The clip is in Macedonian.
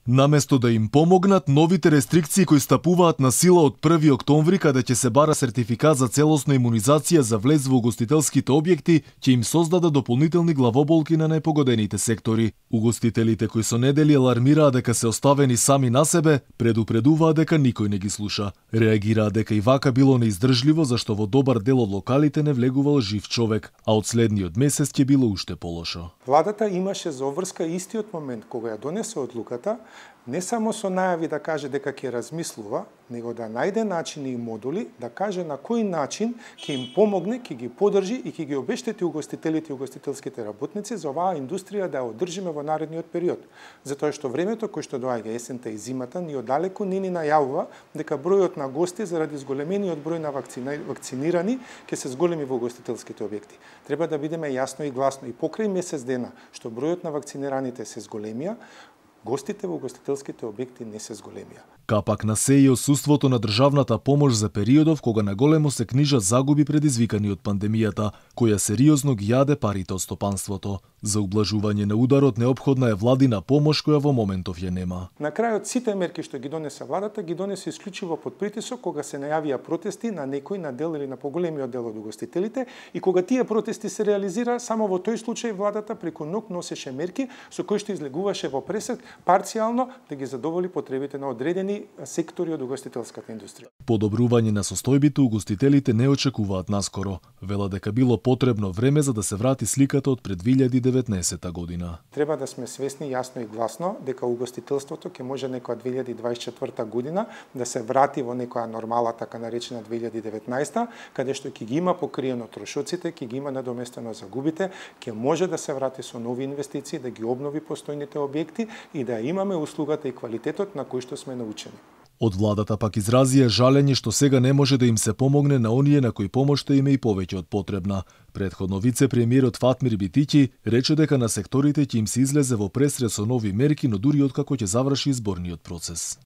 Наместо да им помогнат, новите рестрикции кои стапуваат на сила од 1 октомври, каде ќе се бара сертификат за целосна имунизација за влез во угостителските објекти, ќе им создадат дополнителни главоболки на најпогодените сектори. Угостителите кои со недели алармираа дека се оставени сами на себе, предупредуваа дека никој не ги слуша. Реагираа дека и вака било неиздржливо, зашто во добар дел од локалите не влегувал жив човек, а од следниот месец ќе било уште полошо. Владата имаше за обврска истиот момент кога ја донесе одлуката, не само со најави да каже дека ќе размислува, него да најде начини и модули да каже на кој начин ќе им помогне, ќе ги поддржи и ќе ги обештети угостителите и угостителските работници за оваа индустрија да ја одржиме во наредниот период. Затоа што времето кој што доаѓа есента и зимата ни оддалеку не ни најавува дека бројот на гости заради зголемениот број на вакцинирани ќе се зголеми во угостителските објекти. Треба да бидеме јасно и гласно и покрај месец дена што бројот на вакцинираните се зголемија, гостите во угостителските објекти не се зголемија. Капак на се и отсуството на државната помош за периодов кога наголемо се книжат загуби предизвикани од пандемијата, која сериозно ги јаде парите од стопанството. За ублажување на ударот неопходна е владина помош која во моментов ја нема. На крајот сите мерки што ги донесе владата ги донесе исклучиво под притисок кога се најавија протести на некој на дел или на поголемиот дел од угостителите и кога тие протести се реализира, само во тој случај владата преку ног носеше мерки со кои што излегуваше во пресек парцијално да ги задоволи потребите на одредени сектори од угостителската индустрија. Подобрување на состојбите угостителите не очекуваат наскоро. Велат дека било потребно време за да се врати сликата од пред 2019 година. Треба да сме свесни јасно и гласно дека угостителството ќе може некоја 2024 година да се врати во некоја нормала, така наречена 2019, каде што ќе ги има покриено трошоците, ќе ги има надоместено загубите, ќе може да се врати со нови инвестиции, да ги обнови постојните објекти и да имаме услугата и квалитетот на кој што сме научени. Од владата пак изразија жалење што сега не може да им се помогне на оние на кои помошта им е и повеќе од потребна. Претходно вице-премиерот Фатмир Битиќи рече дека на секторите ќе им се излезе во пресред со нови мерки, но дури откако ќе заврши изборниот процес.